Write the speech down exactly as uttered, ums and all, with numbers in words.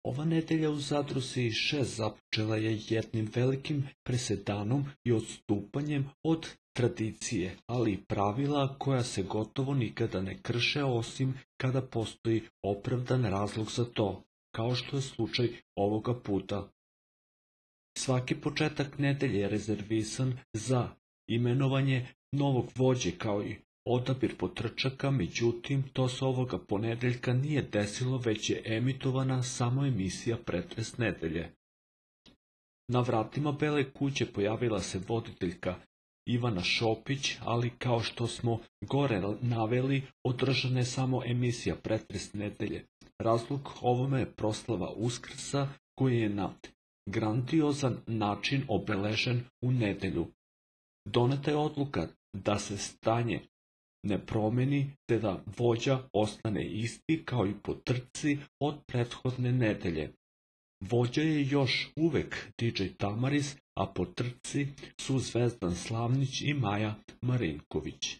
Ova nedelja u Zadruzi šest započela je jednim velikim presedanom i odstupanjem od tradicije, ali i pravila koja se gotovo nikada ne krše osim kada postoji opravdan razlog za to, kao što je slučaj ovoga puta. Svaki početak nedelje je rezervisan za imenovanje novog vođe kao i odabir potrčaka, međutim to se ovoga ponedeljka nije desilo, već je emitovana samo emisija Pretres nedelje. Na vratima Bele kuće pojavila se voditeljka Ivana Šopić, ali kao što smo gore naveli, održana je samo emisija Pretres nedelje. Razlog ovome je proslava Uskrsa koji je na grandiozan način obeležen u nedelju. Doneta je odluka da se stanje ne promeni, te da vođa ostane isti kao i po trci od prethodne nedelje. Vođa je još uvek D J Tamaris, a po trci su Zvezdan Slavnić i Maja Marinković.